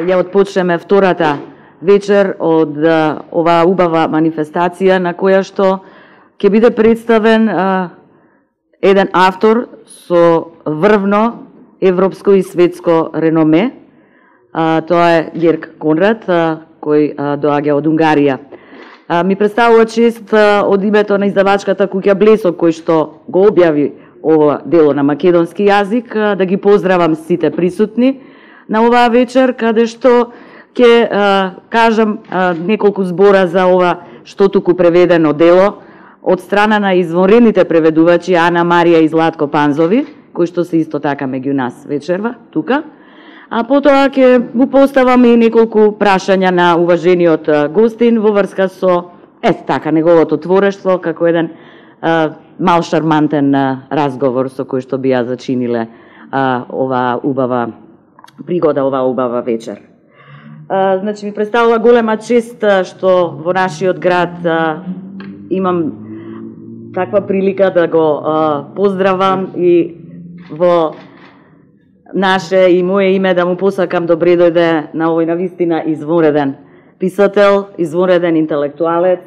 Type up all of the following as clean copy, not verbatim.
ја отпочнеме втората вечер од оваа убава манифестација на која што ќе биде представен еден автор со врвно европско и светско реноме. Тоа е Герк Конрад, кој доаѓа од Унгарија. Ми представува чест од името на издавачката куќа Блесок, кој што го објави ова дело на македонски јазик, да ги поздравам сите присутни на оваа вечер, каде што ќе кажам неколку збора за ова што туку преведено дело од страна на извонредните преведувачи Ана Марија и Златко Панзови, кои што се исто така меѓу нас вечерва тука. А потоа ќе му поставам и неколку прашања на уважениот гостин во врска со така неговото творештво како еден мал шармантен разговор со кој што би ја зачиниле оваа убава пригода, оваа убава вечер. Значи ми представува голема чест што во нашиот град имам таква прилика да го поздравам и во наше и мое име да му посакам добре дојде на овој навистина извонреден писател, извонреден интелектуалец,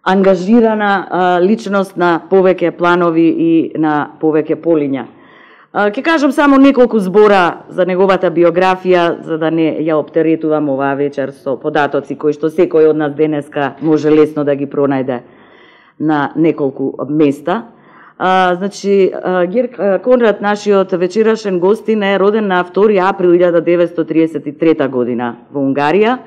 ангажирана личност на повеќе планови и на повеќе полиња. Ќе кажам само неколку збора за неговата биографија, за да не ја оптеретувам оваа вечер со податоци кои што секој од нас денеска може лесно да ги пронајде на неколку места. Значи, Герк Конрад, нашиот вечерашен гостин, е роден на 2 април 1933 година во Унгарија.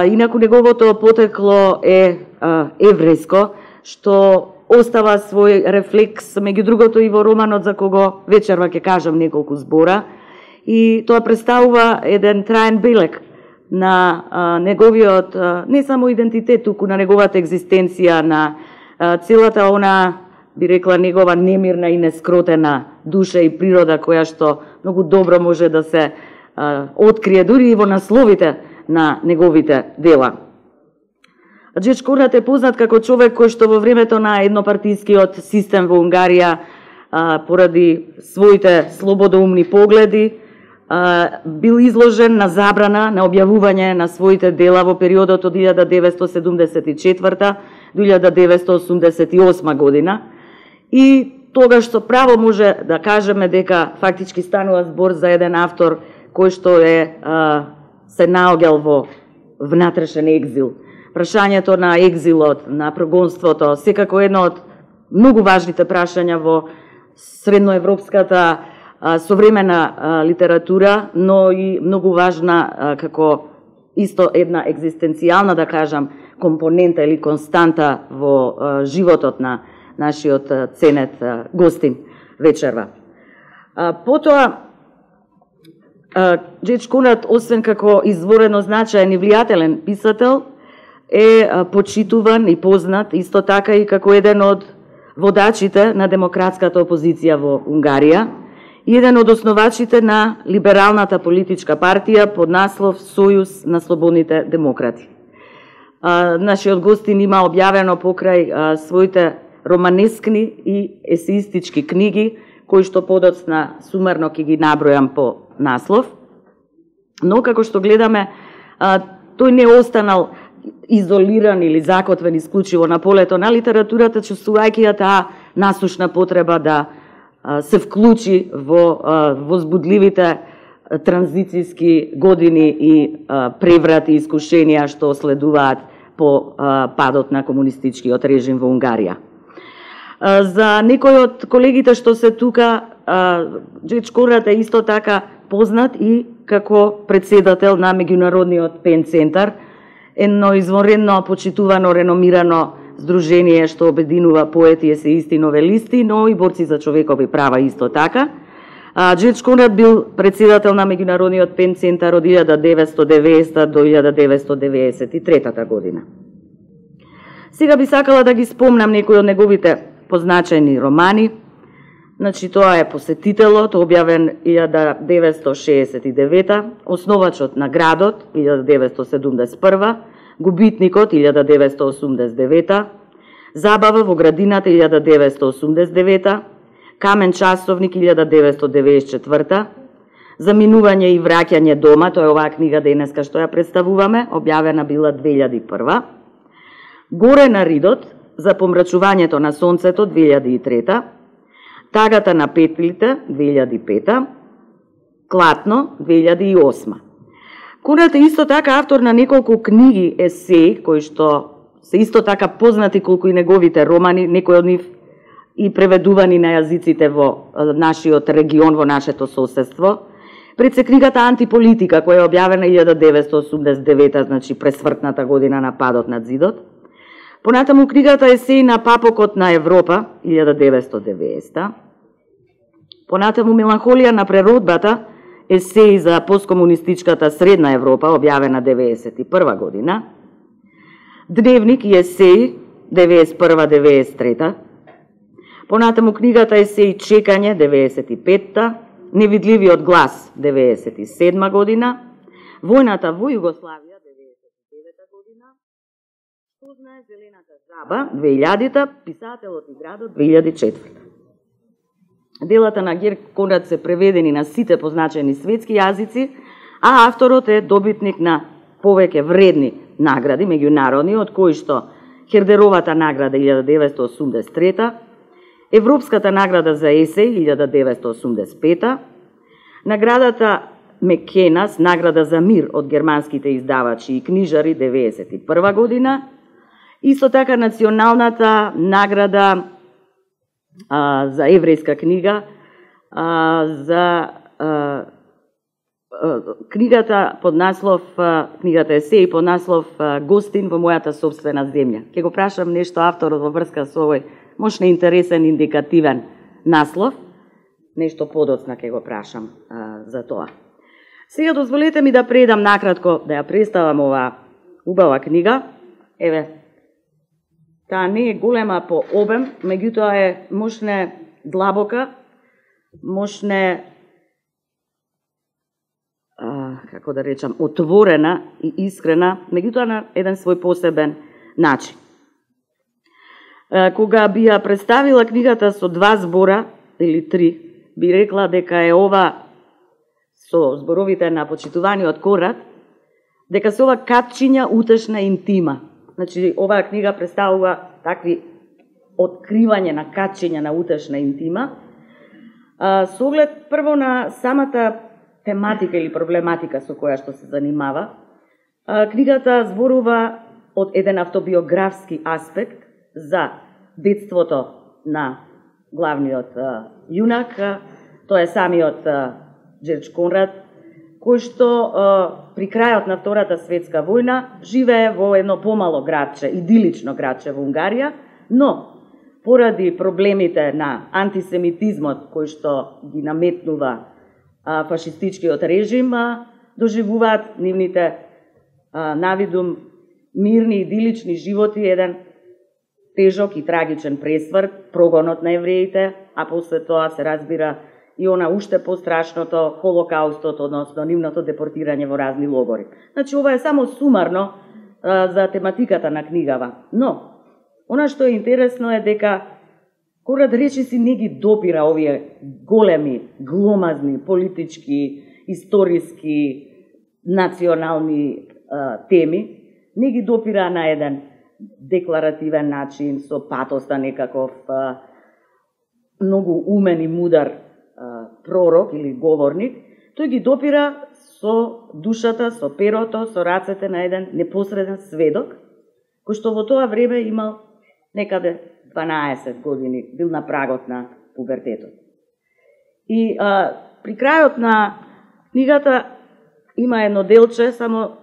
Инаку неговото потекло е еврејско, што остава свој рефлекс, меѓу другото и во романот за кого вечерва ќе кажам неколку збора. И тоа представува еден траен белег на неговиот, не само идентитет, туку на неговата екзистенција, на целата она, би рекла, негова немирна и нескротена душа и природа, која што многу добро може да се открие дури и во насловите на неговите дела. Герк Конрад е познат како човек кој што во времето на еднопартискиот систем во Унгарија, поради своите слободоумни погледи, бил изложен на забрана на објавување на своите дела во периодот од 1974 до 1988 година. И тогаш со право може да кажеме дека фактички станува збор за еден автор кој што се наоѓал во внатрешен екзил. Прашањето на екзилот, на прогонството, секако едно од многу важните прашања во средноевропската современа литература, но и многу важна како исто една екзистенцијална, да кажам, компонента или константа во животот на нашиот ценет гостин вечерва. Потоа, Герк Конрад, освен како изворено значаен и влијателен писател, е почитуван и познат исто така и како еден од водачите на демократската опозиција во Унгарија и еден од основачите на либералната политичка партија под наслов Сојуз на слободните демократи. Нашиот гостин има објавено покрај своите романескни и есеистички книги, кои што подоцна сумарно ќе ги набројам по наслов. Но, како што гледаме, тој не останал изолиран или закотвен исклучиво на полето на литературата, чувствувајќи ја таа насушна потреба да се вклучи во возбудливите транзицијски години и преврати и искушенија што следуваат по падот на комунистичкиот режим во Унгарија. За некои од колегите што се тука, Герк Конрад е исто така познат и како председател на Меѓународниот Пен Центар, едно извонредно почитувано, реномирано здружение што обединува поети, есеисти, новелисти, но и борци за човекови права исто така. Герк Конрад бил председател на Меѓународниот Пен Центар од 1990 до 1993 година. Сега би сакала да ги спомнам некои од неговите позначени романи. Значи, тоа е Посетителот, објавен 1969, Основачот на градот, 1971, Губитникот, 1989, Забава во градината, 1989, Камен часовник, 1994, Заминување и враќање дома, тоа е оваа книга денеска што ја представуваме, објавена била 2001. Горе на ридот, за помрачувањето на сонцето 2003. Тагата на петлите 2005. Клатно 2008. Конрад е исто така автор на неколку книги есеи, кои што се исто така познати колку и неговите романи, некои од нив и преведувани на јазиците во нашиот регион, во нашето соседство. Пред се книгата Антиполитика, која е објавена 1989, значи пресмртната година на падот на зидот. Понатаму книгата Есеи на папокот на Европа, 1990. Понатаму Меланхолија на природбата, есеи за посткомунистичката Средна Европа, објавена 1991 година. Дневник и есеи, 1991-1993. Понатаму книгата Есеи Чекање, 1995. Невидливиот глас, 1997 година. Војната во Југославија, 1999 година. Што знае зелената жаба, 2000-та. Писателот и градот, 2004. Делата на Герт Конрад се преведени на сите позначени светски јазици, а авторот е добитник на повеќе вредни награди меѓународни, од кои што Хердеровата награда 1983, Европската награда за есеј 1985, наградата Мекенас, награда за мир од германските издавачи и книжари 1991 година, исто така националната награда за еврејска книга, за книгата под наслов, книгата есеи под наслов Гостин во мојата собствена земја. Ќе го прашам нешто авторот во врска со овој можна интересен, индикативен наслов, нешто подоцна ќе го прашам за тоа. Сега дозволете ми да предам накратко, да ја представам оваа убава книга. Еве, таа не е голема по обем, меѓутоа е можне длабока, можне, како да речам, отворена и искрена, меѓутоа на еден свој посебен начин. Кога би ја представила книгата со 2 збора или 3, би рекла дека е ова, со зборовите на почитуваниот Конрад, дека се ова капчиња утешна интима. Значи, оваа книга представува такви откривање на качиња на утешна интима, со оглед прво на самата тематика или проблематика со која што се занимава. Книгата зборува од еден автобиографски аспект за детството на главниот јунак, тоа е самиот Джердж Конрад, кој што при крајот на Втората светска војна живее во едно помало градче, идилично градче во Унгарија, но поради проблемите на антисемитизмот кој што ги наметнува фашистичкиот режим, доживуваат нивните навидум мирни идилични животи еден тежок и трагичен пресврт, прогонот на евреите, а после тоа се разбира и она уште пострашното Холокаустот, односно нивното депортирање во разни логори. Значи, ова е само сумарно за тематиката на книгава. Но, она што е интересно е дека Конрад речиси не ги допира овие големи, гломазни, политички, историски, национални теми, не ги допира на еден декларативен начин, со патоста некаков многу умен и мудар пророк или говорник, тој ги допира со душата, со перото, со рацете на еден непосреден сведок, кој што во тоа време имал некаде 12 години, бил на прагот на пубертетот. И при крајот на книгата има едно делче, само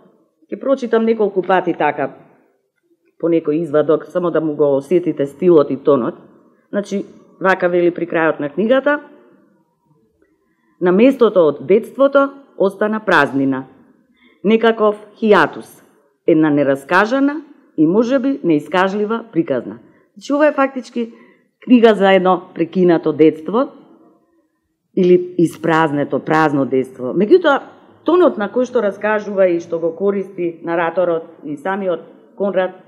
ќе прочитам неколку пати така, по некој извадок, само да му го осетите стилот и тонот. Значи, вака вели при крајот на книгата: на местото од детството остана празнина, некаков хијатус, една нераскажана и можеби неискажлива приказна. Значи, ова е фактички книга за едно прекинато детство или испразнето, празно детство. Меѓутоа, тонот на кој што раскажува и што го користи нараторот и самиот Конрад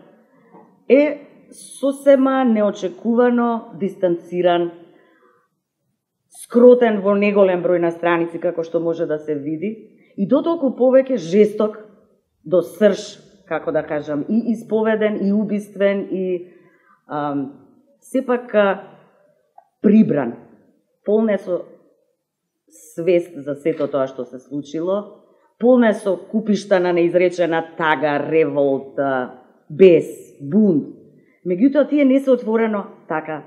е сосема неочекувано дистанциран, скротен во неголем број на страници, како што може да се види, и дотолку повеќе жесток до срж, како да кажам, и исповеден, и убиствен, и сепак прибран, полн е со свест за сето тоа што се случило, полн е со купишта на неизречена тага, револта, бес, бунт. Меѓутоа, тие не се отворено така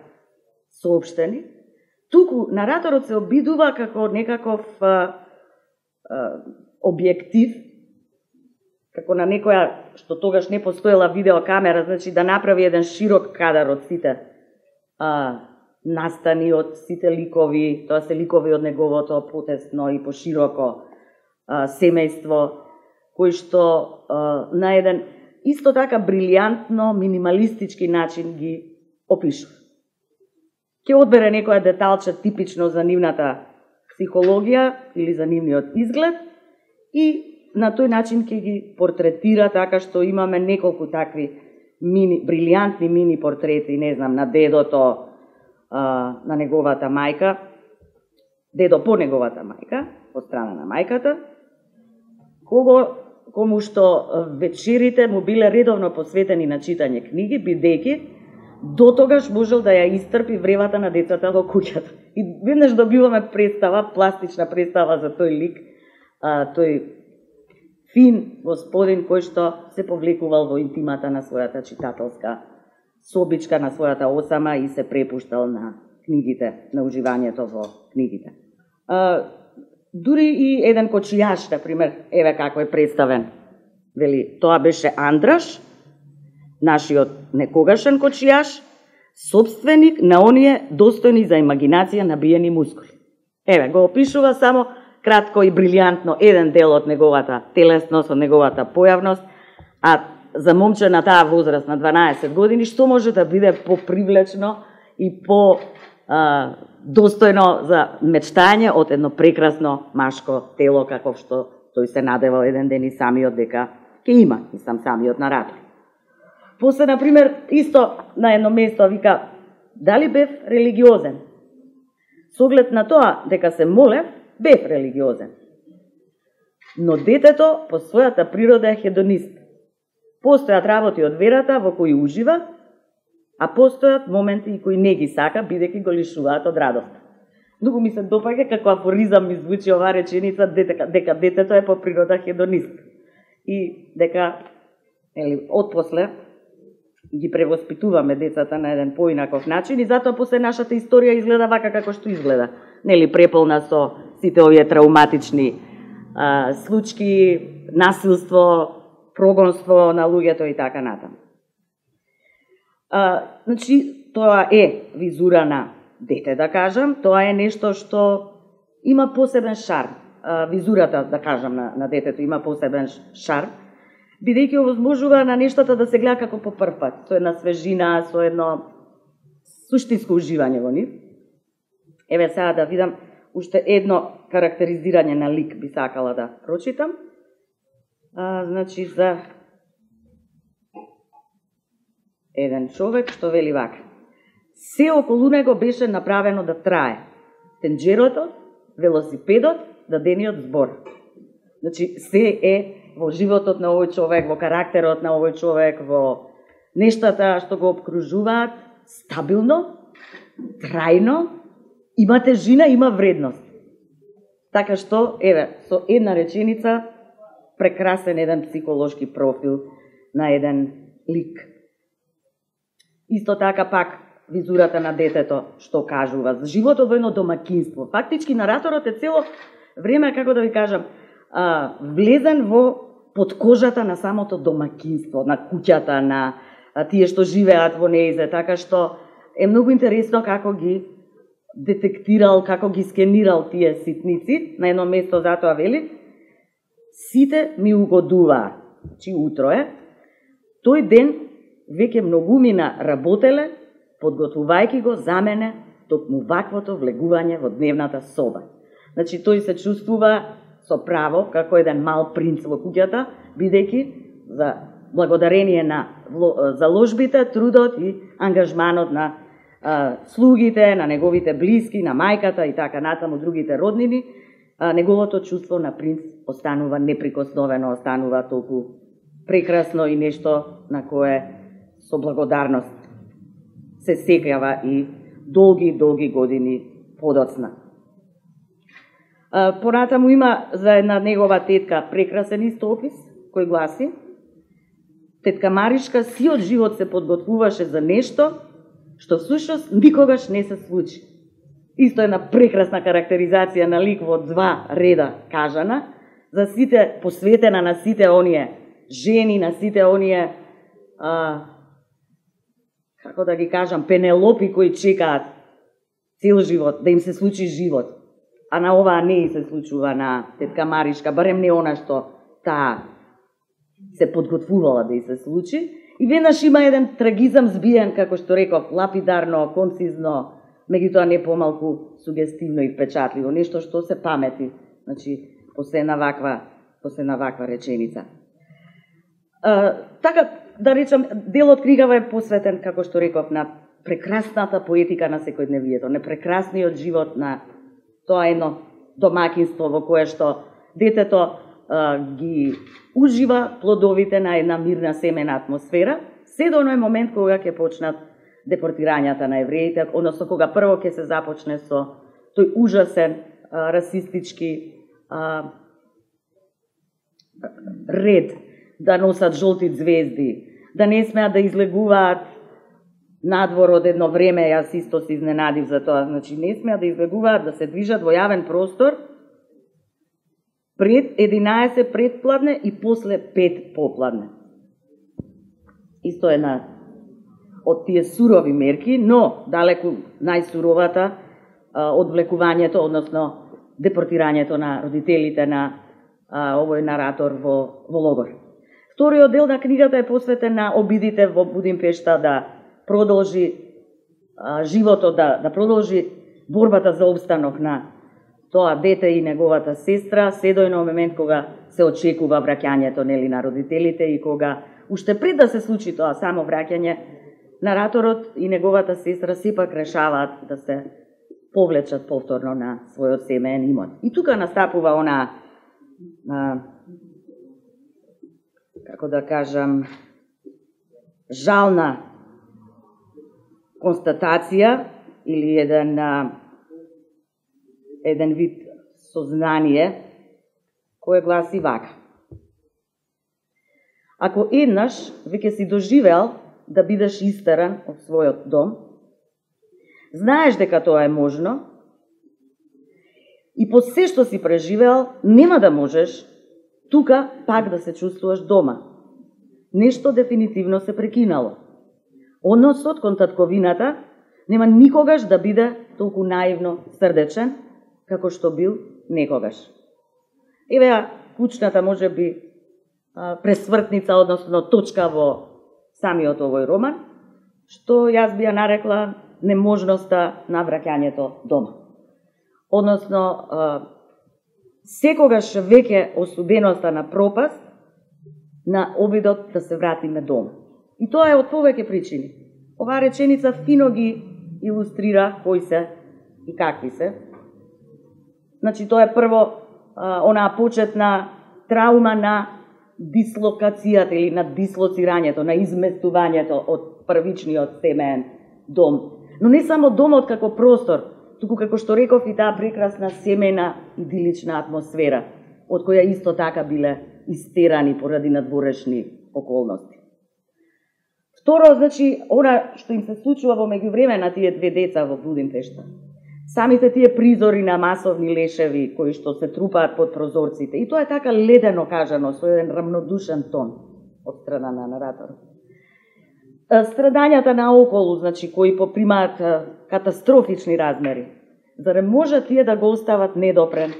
соопштени, туку нараторот се обидува како некаков објектив, како на некоја, што тогаш не постоела видеокамера, значи да направи еден широк кадар од сите настани, од сите ликови, тоа се ликови од неговото потесно и пошироко семејство, кој што на еден исто така брилјантно, минималистички начин ги опишува. Ќе одбере некоја деталче типично за нивната психологија или за нивниот изглед и на тој начин ќе ги портретира така што имаме неколку такви брилјантни мини портрети, не знам, на дедото, на неговата мајка, дедо по неговата мајка, од страна на мајката, кому што вечерите му биле редовно посветени на читање книги, бидејќи дотогаш можел да ја истрпи вревата на децата во куќата. И веднаш добиваме представа, пластична представа за тој лик, тој фин господин кој што се повлекувал во интимата на својата читателска собичка, на својата осама и се препуштал на книгите, на уживањето во книгите. Дури и еден кочијаш, например, еве како е представен. Вели, тоа беше Андраш, нашиот некогашен кочијаш, собственик на оние достојни за имагинација набиени мускули. Еве, го опишува само кратко и брилјантно еден дел од неговата телесност, од неговата појавност, а за момче на таа возраст на 12 години, што може да биде попривлечно и по достојно за мечтање од едно прекрасно машко тело, каков што тој се надевал еден ден и самиот дека ќе има, и самиот наратор. После, например, исто на едно место вика, дали бев религиозен? Со оглед на тоа дека се молев, бев религиозен. Но детето по својата природа е хедонист. Постојат работи од верата во кои ужива, а постојат моменти и кои не ги сака, бидејќи го лишуваат од радост. Многу ми се допаѓа како афоризам ми звучи оваа реченица дека детето е по природа хедонист. И дека отпосле ги превоспитуваме децата на еден поинаков начин и затоа после нашата историја изгледа вака како што изгледа. Преполна со сите овие трауматични случаи, насилство, прогонство на луѓето и така натаму. Значи, тоа е визура на дете, да кажам, тоа е нешто што има посебен шарм. Визурата, да кажам, на детето има посебен шарм, бидејќи овозможува на нештата да се гледа како по прв пат, со една свежина, со едно суштинско уживање во нив. Еве сега да видам уште едно карактеризирање на лик би сакала да прочитам. Значи, за еден човек што вели вака. Се околу него беше направено да трае. Тенџерото, велосипедот, дадениот збор. Значи, се е во животот на овој човек, во карактерот на овој човек, во нештата што го обкружуваат, стабилно, трајно, има тежина, има вредност. Така што, еве, со една реченица, прекрасен еден психолошки профил на еден лик. Исто така пак визурата на детето што кажува за животот во едно домакинство. Фактички нараторот е цело време, како да ви кажам, влезен во подкожата на самото домакинство, на куќата, на тие што живеат во неизе, така што е многу интересно како ги детектирал, како ги скенирал тие ситници. На едно место затоа вели, сите ми угодуваат, чи утро е, тој ден веќе многумина работеле, подготвувајќи го за мене токму ваквото влегување во дневната соба. Значи, тој се чувствува со право, како еден мал принц во куќата, бидејќи за благодарение на заложбите, трудот и ангажманот на слугите, на неговите блиски, на мајката и така натаму другите роднини, неговото чувство на принц останува неприкосновено, останува толку прекрасно и нешто на кое со благодарност се сеќава и долги години подоцна. Понатаму има за една негова тетка прекрасен истопис, кој гласи: тетка Маришка сиот живот се подготвуваше за нешто што всушност никогаш не се случи. Исто една прекрасна карактеризација на лик во 2 реда кажана, за сите, посветена на сите оние жени, на сите оние, како да ги кажам, пенелопи кои чекаат цел живот, да им се случи живот. А на оваа не и се случува на тетка Маришка, барем не она што таа се подготвувала да и се случи. И веднаш има еден трагизам збиен, како што реков, лапидарно, концизно, меѓутоа не помалку сугестивно и впечатливо, нешто што се памети, значи, после на ваква реченица. Така, да речам, делот книгава е посветен, како што реков, на прекрасната поетика на секојдневието, на прекрасниот живот на тоа едно домаќинство во кое што детето ги ужива плодовите на една мирна семена атмосфера, се до оној момент кога ќе почнат депортирањата на евреите, односно кога прво ќе се започне со тој ужасен расистички ред да носат жолти звезди, да не смеат да излегуваат надвор од едно време, јас исто се изненадив за тоа, значи не смеат да излегуваат, да се движат во јавен простор пред 11 предпладне и после 5 попладне. Исто една од тие сурови мерки, но далеку најсуровата одвлекувањето, односно депортирањето на родителите на овој наратор во логор. Вториот дел на книгата е посветен на обидите во Будимпешта да продолжи животот, да продолжи борбата за обстанок на тоа дете и неговата сестра, се до еден момент кога се очекува враќањето нели на родителите и кога уште пред да се случи тоа само враќање, нараторот и неговата сестра сепак решаваат да се повлечат повторно на својот семеен имот. И тука настапува она како да кажам, жална констатација или еден вид сознание кој гласи вака: ако еднаш веќе си доживеал да бидеш истеран од својот дом, знаеш дека тоа е можно и по се што си преживеал, нема да можеш тука пак да се чувствуваш дома. Нешто дефинитивно се прекинало. Односот кон татковината нема никогаш да биде толку наивно срдечен, како што бил некогаш. Еве кучната може би пресвртница, односно точка во самиот овој роман, што јас би ја нарекла неможноста на враќањето дома. Односно, секогаш веќе осуденоста на пропаст на обидот да се вратиме дома. И тоа е од повеќе причини. Оваа реченица фино ги илустрира кои се и какви се. Значи, тоа е прво онаа почетна траума на дислокацијата или на дислоцирањето, на изместувањето од првичниот семеен дом. Но не само домот како простор, туку како што реков и таа прекрасна семена идилична атмосфера, од која исто така биле истерани поради надворешни околности. Второ, значи, она што им се случува во меѓувреме на тие две деца во Будимпешта. Самите тие призори на масовни лешеви кои што се трупаат под прозорците. И тоа е така ледено кажано, со еден рамнодушен тон од страна на нараторот. Страдањата наоколу, значи, кои попримаат катастрофични размери. Зарем може тие да го остават недопрен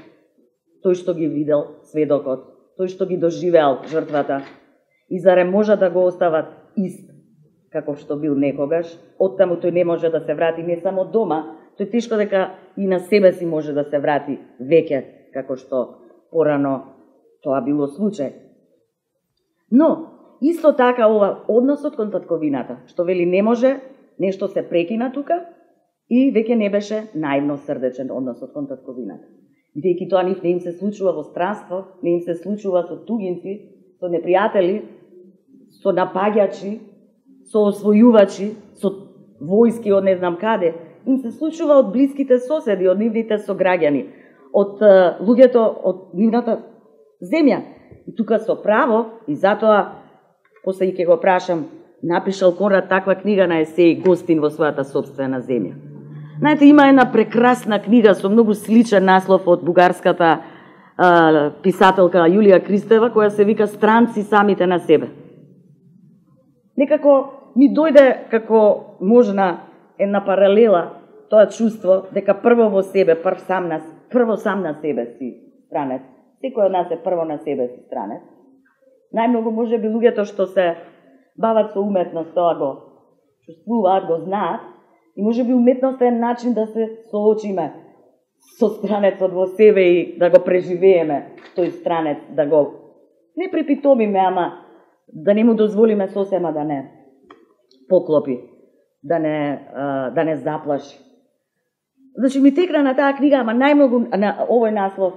тој што ги видел сведокот, тој што ги доживеал жртвата, и зарем може да го остават ист како што бил некогаш, оттаму тој не може да се врати не само дома, тој тешко дека и на себе си може да се врати веќе, како што порано тоа било случај. Но, исто така ова односот кон татковината, што вели не може нешто се прекина тука и веќе не беше наивно срдечен односот кон татковината. Бидејќи тоа нив не им се случува во странство, не им се случува со тугинци, со непријатели, со напаѓачи, со освојувачи, со војски од не знам каде, им се случува од блиските соседи, од нивните сограѓани, од луѓето од нивната земја. И тука со право, и затоа, после и ќе го прашам, напишал Конрад таква книга на есеи Гостин во својата собствена земја. Знаете, има една прекрасна книга со многу сличен наслов од бугарската писателка Јулија Кристева, која се вика Странци самите на себе. Некако ми дојде како можна една паралела тоа чувство дека прво во себе, прво сам на себе си странец. Секој од нас е прво на себе си странец. Најмногу може би луѓето што се бават со уметност, тоа го чувствуваат, го знаат, и може би уметноста е начин да се соочиме со странецот во себе и да го преживееме тој странец, да го не припитомиме, ама да не му дозволиме сосема да не поклопи, да не заплаши. Значи ми текна на таа книга, ама најмногу на овој наслов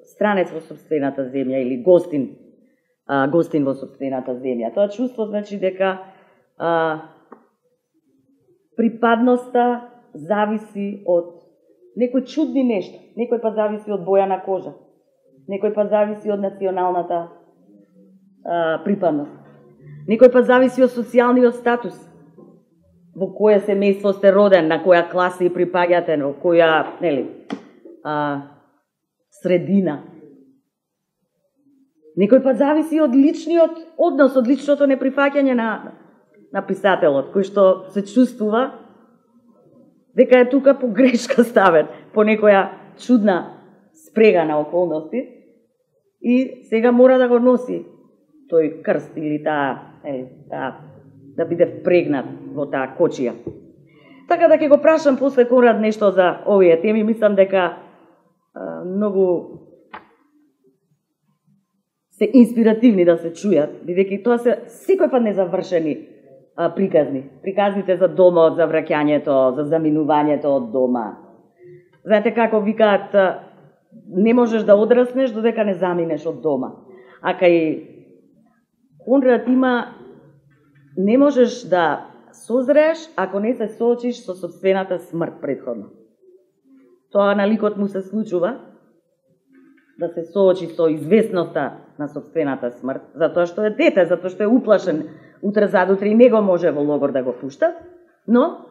Странец во сопствената земја или Гостин во сопствената земја. Тоа чувство значи дека припадноста зависи од некои чудни нешта, некој па зависи од боја на кожа, некој па зависи од националната припадност, некој па зависи од социјалниот статус, во кое семејство сте роден, на која класа и припаѓате, во која, средина. Некој па зависи од личниот однос, од личното неприфаќање на писателот, кој што се чувствува дека е тука по грешка ставен, по некоја чудна спрега на околности и сега мора да го носи тој крст или да биде впрегнат во таа кочија. Така да ќе го прашам после Конрад нешто за овие теми, мислам дека многу се инспиративни да се чујат, бидејќи тоа се секој пат незавршени приказни. Приказните за домот, за враќањето, за заминувањето од дома. Знаете како викаат, не можеш да одраснеш додека не заминеш од дома. А кај Конрад има, не можеш да созрееш ако не се соочиш со сопствената смрт предходно. Тоа на ликот му се случува да се соочи со известноста на сопствената смрт, затоа што е дете, затоа што е уплашен, утре задутре и него може во логор да го пуштат, но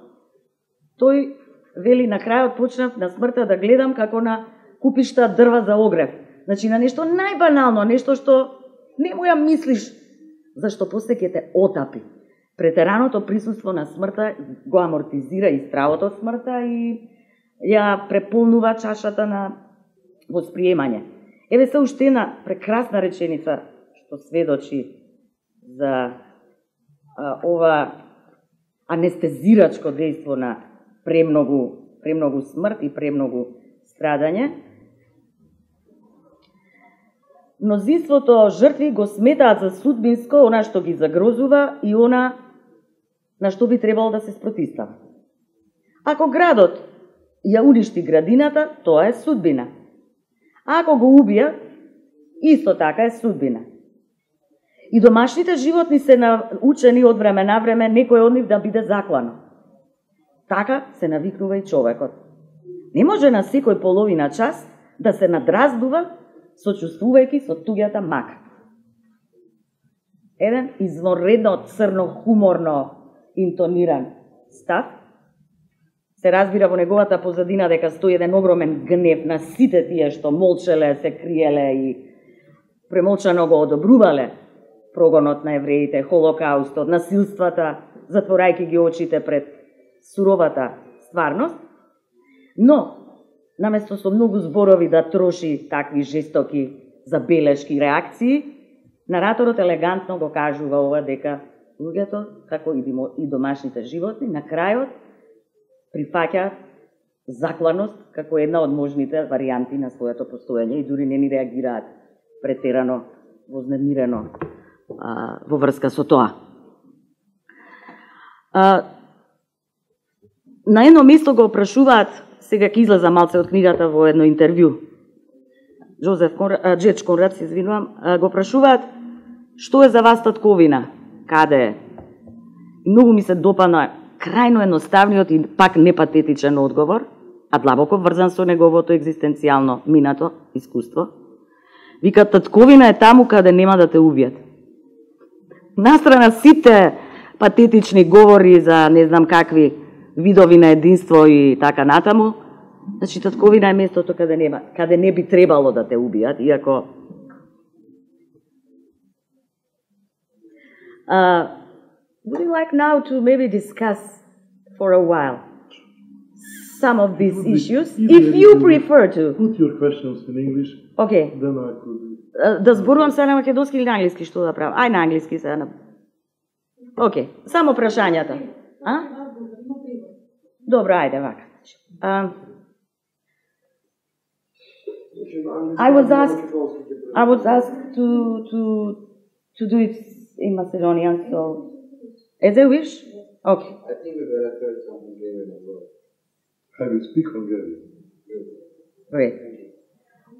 тој вели на крајот почнав на смртта да гледам како на купишта дрва за огрев. Значи на нешто најбанално, нешто што не му ја мислиш, зашто после ќе те отапи. Претераното присуство на смртта го амортизира и стравот од смртта и ја преполнува чашата на восприемање. Еве се уште една прекрасна реченица што сведочи за ова анестезирачко дејство на премногу смрт и премногу страдање. Мнозинството жртви го сметаат за судбинско она што ги загрозува и она на што би требало да се спротистава. Ако градот ја уништи градината, тоа е судбина. А ако го убија, исто така е судбина. И домашните животни се научени од време на време некој од нив да биде заклано. Така се навикнува и човекот. Не може на секој половина час да се надраздува сочувствувајќи со туѓата мака. Еден извонредно црно хуморно интониран став се разбира во неговата позадина дека стои еден огромен гнев на сите тие што молчеле, се криеле и премолчано го одобрувале прогонот на евреите, холокаустот, насилствата, затворајќи ги очите пред суровата стварност, но наместо со многу зборови да троши такви жестоки забелешки реакции, нараторот елегантно го кажува ова дека луѓето, како и домашните животни, на крајот прифаќаат закланост како една од можните варијанти на своето постоење и дури не ни реагираат претерано вознемирено во врска со тоа. На едно место го опрашуваат, сега ќе излеза малце од книгата во едно интервју, Джордж Конрад, се извинувам, го опрашуваат што е за вас татковина, каде е. И многу ми се допадна крајно едноставниот и пак непатетичен одговор, а длабоко врзан со неговото екзистенцијално минато искуство. Вика, татковина е таму каде нема да те убијат. Настрана сите патетични говори за не знам какви видови на единство и така натаму, значи татковина е местото каде не би требало да те убијат, иако would you like now to maybe discuss for a while some of these issues, if you prefer to? Put your questions in English. Okay. Then I could. Да зборувам се на македонски или на англиски, што да правам? Ај на англиски се на. Окей, само прашањата. А? Добро, ајде вака. I was asked to do it in Macedonian, so as a wish. Okay. I think we better turn some Hungarian as well. I will speak Hungarian. Great.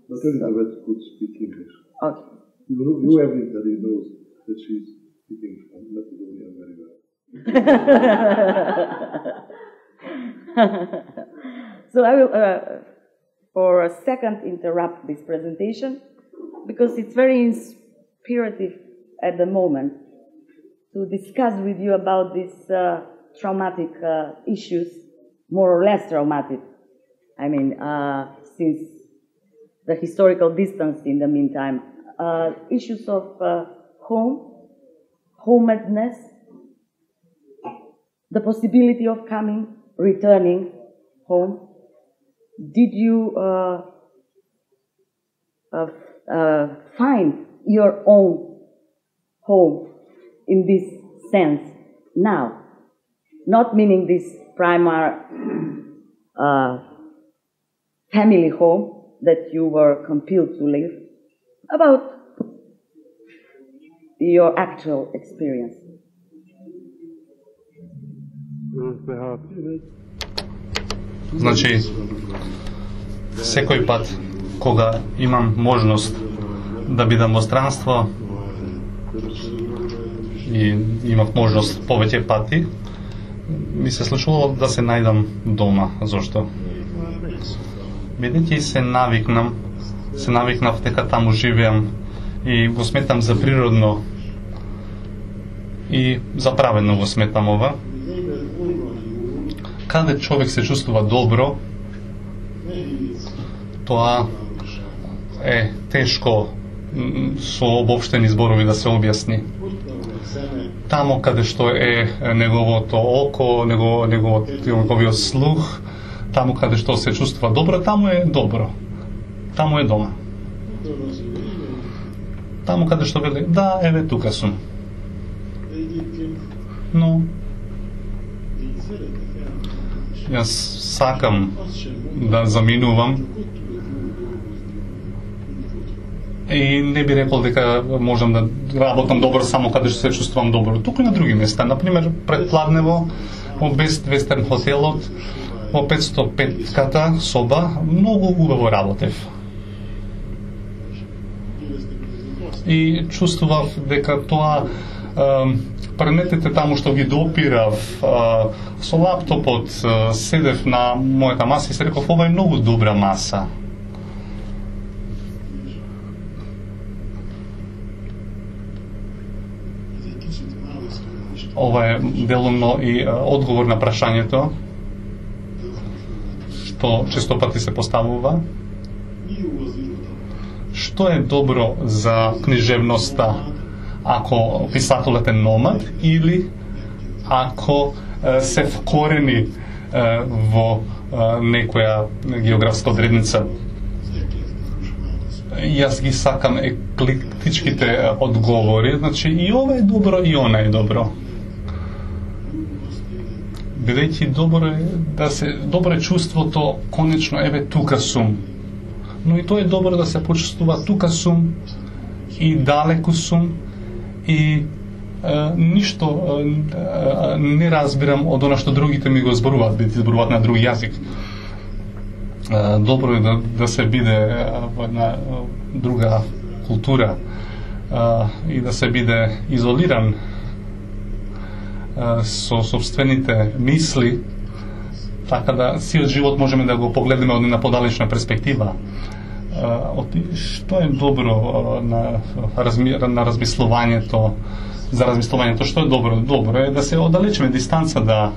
But Elizabeth could speak English. Okay. You everybody knows that she's speaking Macedonian very well. So I will, for a second, interrupt this presentation because it's very inspirative at the moment to discuss with you about these traumatic issues, more or less traumatic. I mean, since the historical distance in the meantime, issues of homedness, the possibility of returning home. Did you find your own home in this sense now? Not meaning this primary family home that you were compelled to live, about your actual experience. Значи, секој пат кога имам можност да бидам во странство и имав можност повеќе пати, ми се случувало да се најдам дома. Зошто? Бидејќи се навикнав дека таму живеам и го сметам за природно и за праведно го сметам ова. Каде човек се чувствува добро, тоа е тешко со обобштени зборови да се објасни. Тамо каде што е неговото око, неговиот слух, тамо каде што се чувствува добро, тамо е добро. Тамо е дома. Тамо каде што вели, да, еве тука сум. Но јас сакам да заминувам и не би рекол дека можам да работам добро само каде што се чувствувам добро. Туку и на други места, например пред Плавнево, во Best Western хотелот, во 505-ката соба, многу убаво работев. И чувствував дека тоа предметите таму што ги допирав, со лаптопот седев на мојата маса и се реков, ова е многу добра маса. Ова е делумно и одговор на прашањето што често пати се поставува. Што е добро за книжевноста? Ако писателот е номад или ако се вкорени во некоја географска одредница. Јас ги сакам еклектичките одговори, значи и ова е добро и она е добро. Бидејќи добро е чувството, конечно, еве тука сум. Но и тоа е добро да се почувствува тука сум и далеку сум и ништо не разбирам од она што другите ми го зборуваат, бидејќи зборуваат на друг јазик. Добро е да се биде во една друга култура и да се биде изолиран со собствените мисли, така да сиот живот можеме да го погледнеме од една подалечна перспектива. Што е добро на размислувањето, за размислувањето, што е добро? Добро е да се оддалечиме дистанца да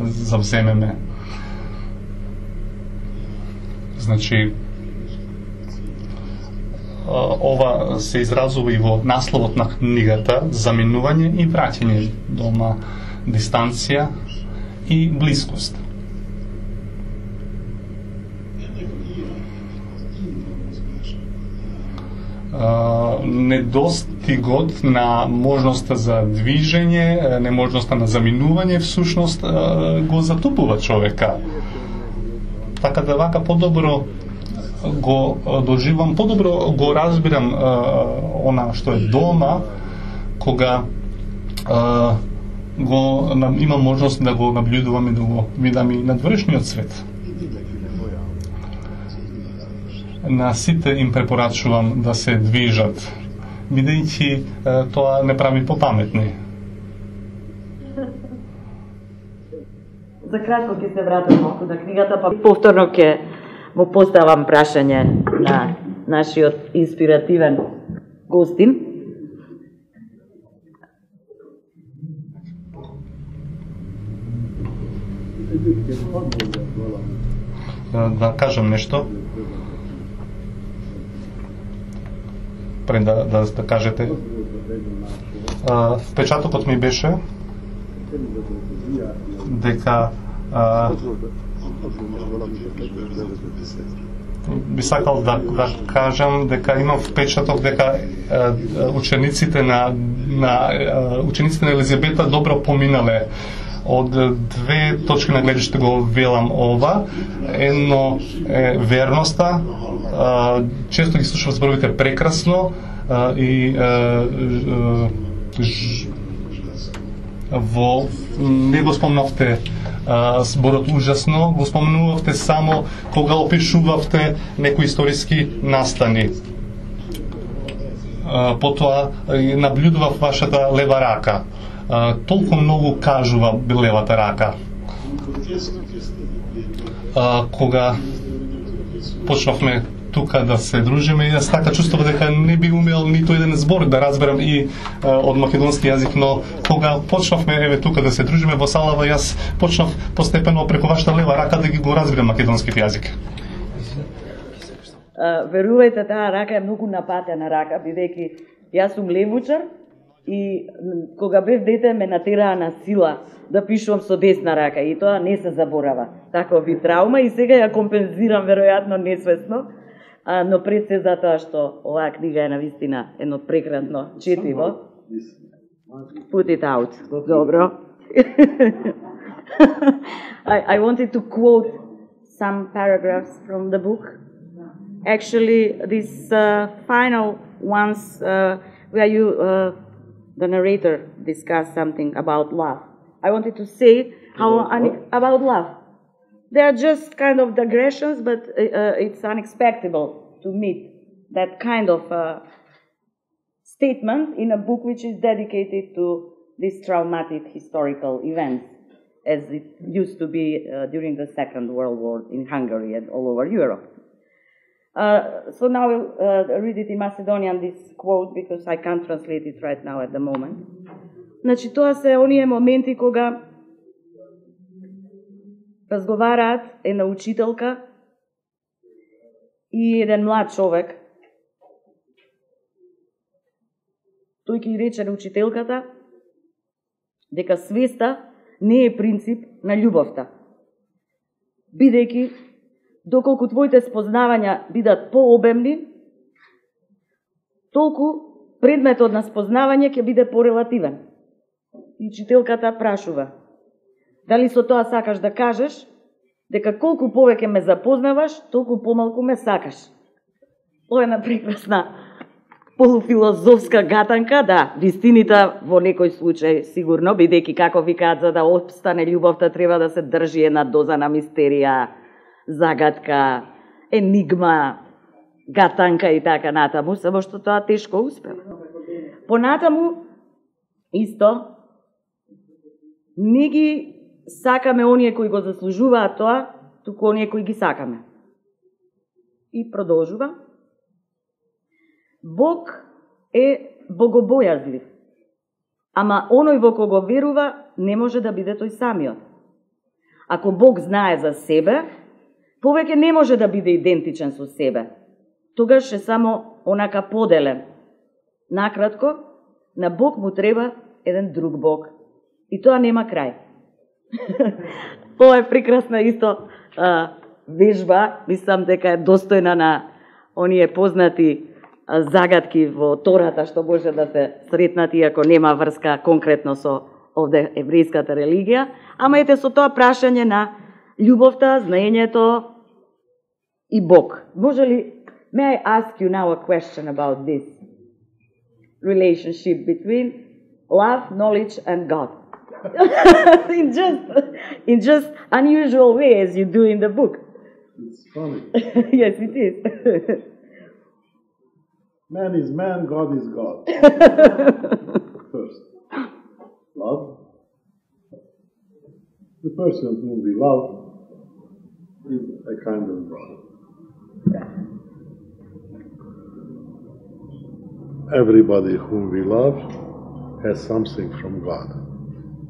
завземеме. Значи, ова се изразува и во насловот на книгата, заминување и враќање дома, дистанција и блискост. Недостигот на можноста за движење, неможноста на заминување всушност го затупува човека. Така да вака подобро го доживам, подобро го разбирам она што е дома, кога имам можност да го наблюдувам и да го видам и надвршниот свет. На сите им препорачувам да се движат, бидејќи тоа не прави попаметни. За кратко ќе се вратам малку на книгата, па повторно ќе му поставам прашање на нашиот инспиративен гостин. Да кажам нешто? Пред да кажете. Впечатокот ми беше дека би сакал да кажам дека имам впечаток дека учениците на Елизабета добро поминале. Од две точки на гледиште го велам ова. Едно е верноста, често ги слушам зборовите прекрасно и не го спомнавте зборот ужасно, го спомнувавте само кога опишувавте некои историски настани. Потоа наблюдував вашата лева рака. Толку многу кажува левата рака. Кога почнавме тука да се дружиме, и јас така чувствував дека не би умел ниту еден збор да разберам и од македонски јазик, но кога почнавме еве тука да се дружиме во салава, јас почнав постепено преку вашата лева рака да ги го разберам македонскиот јазик. Верувајте, таа рака е многу напатена рака, бидејќи јас сум левучар и кога бев дете ме натераа на сила да пишувам со десна рака и тоа не се заборава. Таква би травма и сега ја компензирам веројатно несвесно, но пред се затоа што оваа книга е навистина едно прекрасно четиво. Put it out. Добро. I wanted to quote some paragraphs from the book. Actually, these final ones where you, the narrator, discussed something about love. I wanted to say about love. They are just kind of digressions, but it's unexpected to meet that kind of statement in a book which is dedicated to these traumatic historical events, as it used to be during the Second World War in Hungary and all over Europe. So now I'll read it in Macedonian, this quote, because I can't translate it right now at the moment. Значи, тоа се оние моменти кога разговараат една учителка и еден млад човек. Тој ќе рече на учителката дека свеста не е принцип на љубовта, бидејќи доколку твоите спознавања бидат пообемни, толку предметот на спознавање ќе биде порелативен. И учителката прашува: дали со тоа сакаш да кажеш дека колку повеќе ме запознаваш, толку помалку ме сакаш? Тоа е една прекрасна полуфилозофска гатанка, да, вистината во некој случај сигурно, бидејќи како викаат, за да опстане љубовта треба да се држи една доза на мистерија, загадка, енигма, гатанка и така натаму, само што тоа тешко успева. Понатаму, исто, не ги сакаме оние кои го заслужуваат тоа, туку оние кои ги сакаме. И продолжува. Бог е богобојазлив, ама оној во кого верува не може да биде тој самиот. Ако Бог знае за себе, повеќе не може да биде идентичен со себе. Тогаш е само онака поделен. Накратко, на Бог му треба еден друг Бог. И тоа нема крај. Ова е прекрасна исто вежба, мислам дека е достојна на оние познати загадки во Тората што може да се сретнат, иако нема врска конкретно со овде еврејската религија, ама ете со тоа прашање на љубовта, знаењето и Бог. Може ли, may I ask you now a question about this relationship between love, knowledge and God? in just unusual way as you do in the book. It's funny. Yes, it is. Man is man, God is God. First, love. The person whom we love is a kind of God. Everybody whom we love has something from God.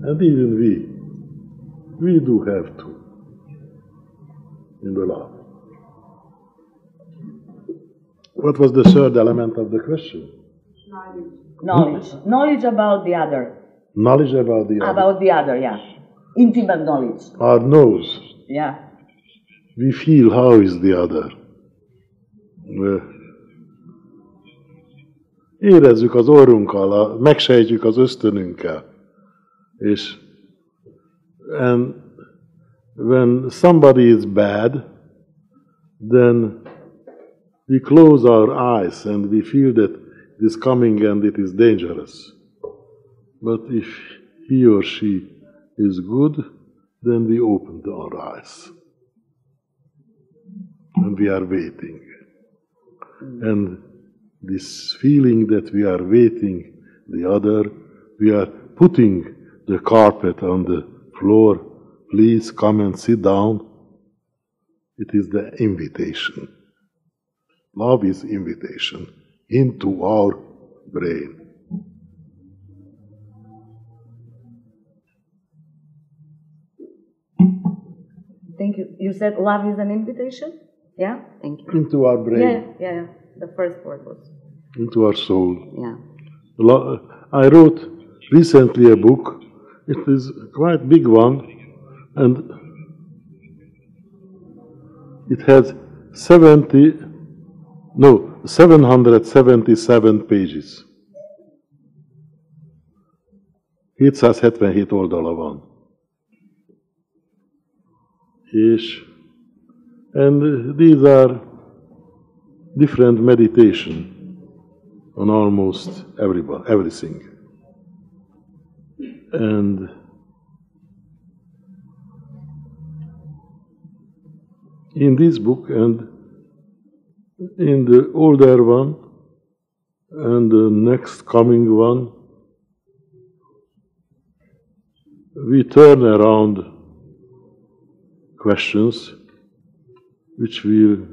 And even we do have to in the love. What was the third element of the question? Knowledge about the other. Knowledge about the other. About the other, yeah. Intimate knowledge. Our nose. Yeah. We feel how is the other. Érezzük az orrunkkal, megsejtjük az ösztönünkkel. And when somebody is bad, then we close our eyes and we feel that it is coming and it is dangerous. But if he or she is good, then we open our eyes. And we are waiting. And this feeling that we are waiting the other, we are putting the carpet on the floor, please come and sit down. It is the invitation. Love is invitation into our brain. Thank you. You said love is an invitation? Yeah? Thank you. Into our brain. Yeah. The first word was. Into our soul. Yeah. I wrote recently a book. It is a quite big one, and it has 777 pages. 777 oldala van. And these are different meditation on almost everything. And in this book and in the older one and the next coming one, we turn around questions which will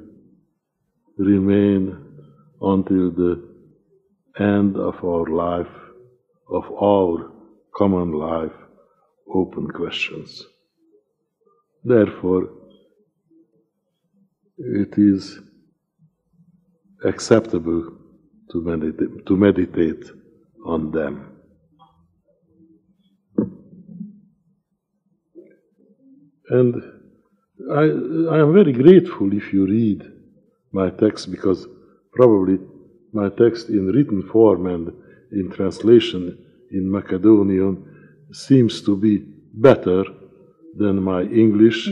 remain until the end of our life, of our common life, open questions. Therefore, it is acceptable to meditate on them. And I am very grateful if you read my text, because probably my text in written form and in translation in Macedonian seems to be better than my English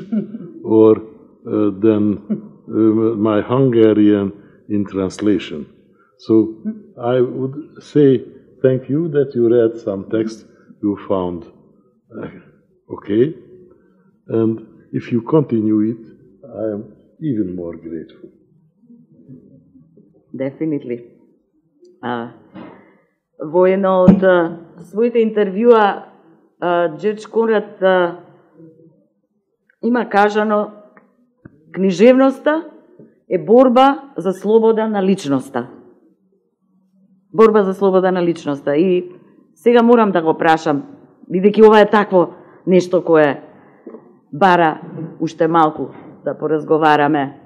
or than my Hungarian in translation. So I would say thank you that you read some text you found okay, and if you continue it, I am even more grateful. Definitely. Во едно од своите интервјуа, Джордж Конрад има кажано: книжевноста е борба за слобода на личноста. Борба за слобода на личноста. И сега морам да го прашам, бидејќи ова е такво нешто кое бара уште малку да поразговараме,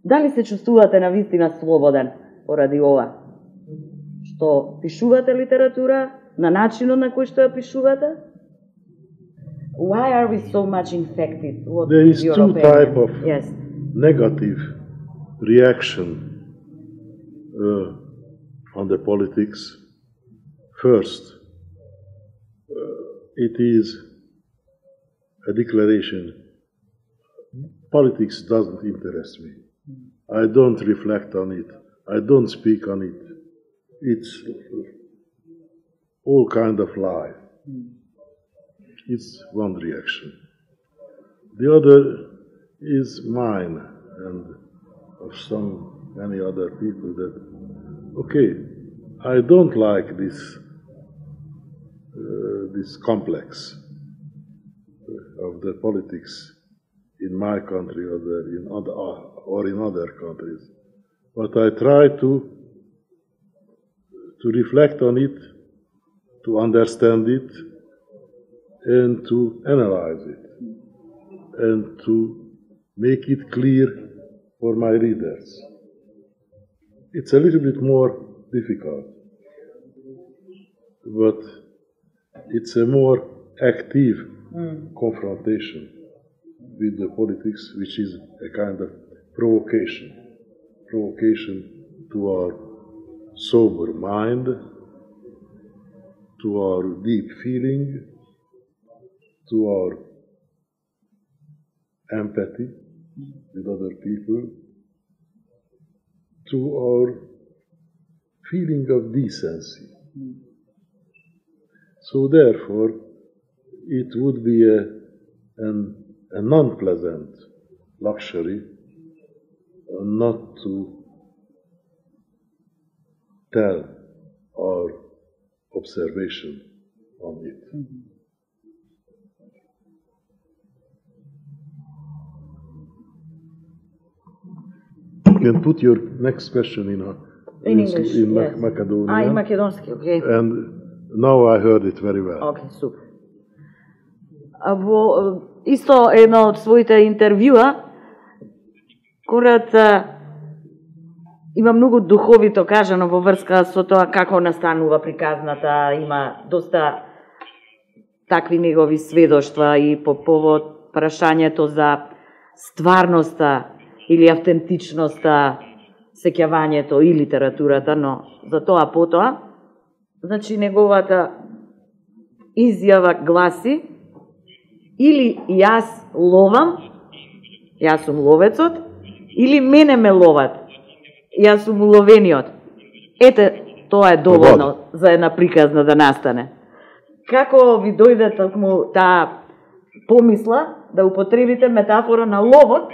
дали се чувствувате навистина слободен поради ова? Што пишувате литература на начинот на кој што ја пишувате? Why are we so much infected? What There is your two opinion? type of Yes. negative reaction on the politics. First, it is a declaration: politics doesn't interest me. I don't reflect on it. I don't speak on it. It's all kind of lie. It's one reaction. The other is mine and of many other people that, okay, I don't like this complex of the politics in my country or in other countries, but I try to reflect on it, to understand it, and to analyze it, and to make it clear for my readers. It's a little bit more difficult, but it's a more active confrontation with the politics, which is a kind of provocation to our sober mind, to our deep feeling, to our empathy with other people, to our feeling of decency. So therefore, it would be a non-pleasant luxury not to tell our observation on it. You can put your next question in English, yes. Macedonian. In македонски, okay. And now I heard it very well. Okay, супер. Во исто едно од своите интервјуа, Конрад има многу духовито кажано во врска со тоа како настанува приказната, има доста такви негови сведоштва и по повод прашањето за стварноста или автентичноста, сеќавањето и литературата, но за тоа потоа, значи неговата изјава гласи: или јас ловам, јас сум ловецот, или мене ме ловат, јас сум уловениот. Ете, тоа е доволно за една приказна да настане. Како ви дојде токму таа помисла да употребите метафора на ловот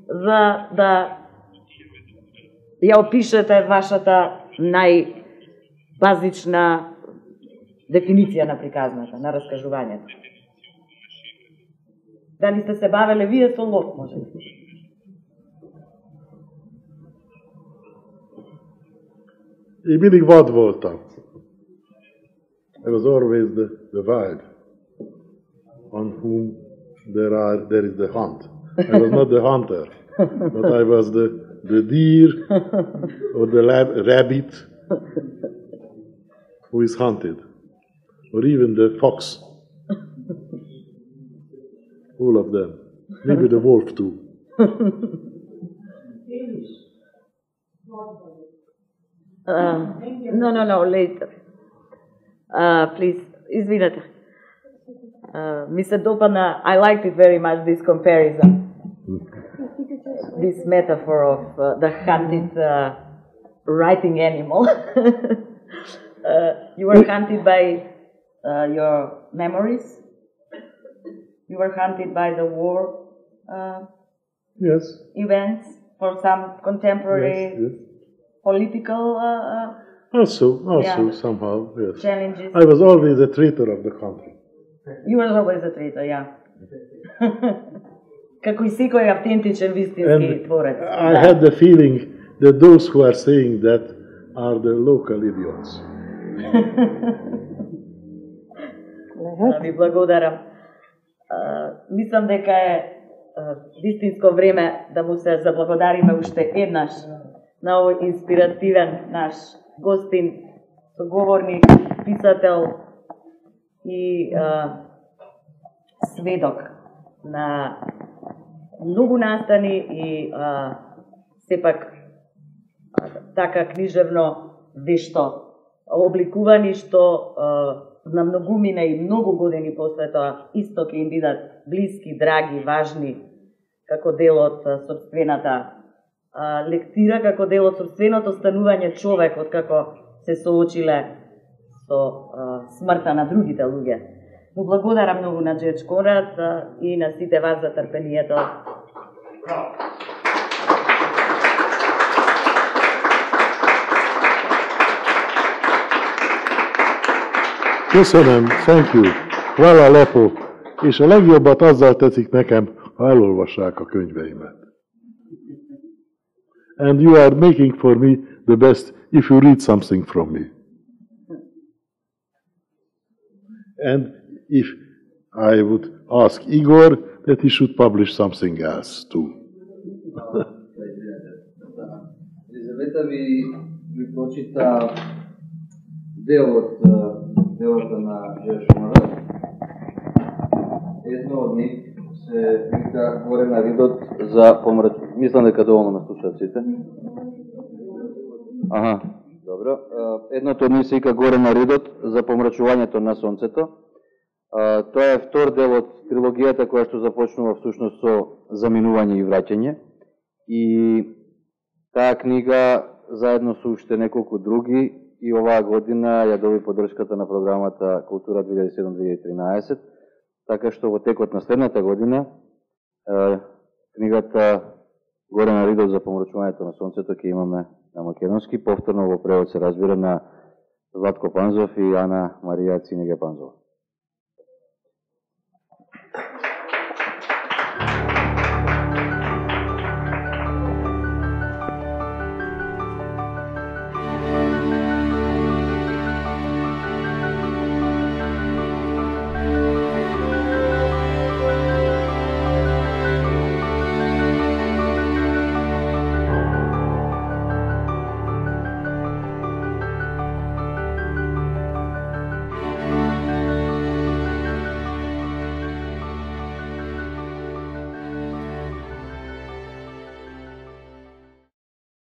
за да ја опишете вашата најбазична дефиниција на приказната, на раскажувањето? Дали сте се бавеле вие со лов, може би? Én mindig vad voltam. I was always the wild, on whom there is the hunt. I was not the hunter, but I was the deer or the rabbit who is hunted, or even the fox. All of them. Maybe the wolf too. No, later. Please, извинете. Ми се допадна, I liked it very much, this comparison. This metaphor of the hunted writing animal. You were hunted by your memories. You were hunted by the war Yes. events for some contemporary Yes. political Also, Yeah. somehow, yes. challenges. I was always a traitor of the country. You were always a traitor, yeah. Како и секој автентичен вистински творец. I had the feeling that those who are saying that are the local idiots. Ви благодарам. Мислам дека е вистинско време да му се заблагодариме уште еднаш на овој инспиративен наш гостин, соговорник, писател и сведок на многу настани и сепак така книжевно вешто обликувани, што на многумина и многу години после тоа исто ќе им бидат блиски, драги, важни, како дел од сопствената лектира, како дел од сопственото станување човек, откако се соочиле со смртта на другите луѓе. Му благодарам многу на Джердж Конрад и на сите вас за трпението. Köszönöm, thank you. Hvala lepo. És a legjobbat azzal tetszik nekem, ha elolvassák a könyveimet. And you are making for me the best if you read something from me. And if I would ask Igor that he should publish something else too. Елизавета ви прочита дел од делата на Джердж Конрад. Едно од нив се вика Горе на ридот за помрачување. Мислам дека доволно ме слушаат сите. Аха, добро. Едното од нив се вика Горе на ридот за помрачувањето на сонцето. Тоа е втор дел од трилогијата која што започнува всушност со заминување и враќање. И таа книга заедно со уште неколку други и оваа година ја доби поддршката на програмата Култура 2007-2013, така што во текот на следната година книгата Горе на ридот за помрачувањето на сонцето ќе имаме на македонски, повторно во превод се разбира на Златко Панзов и Ана Марија Цинеге Панзова.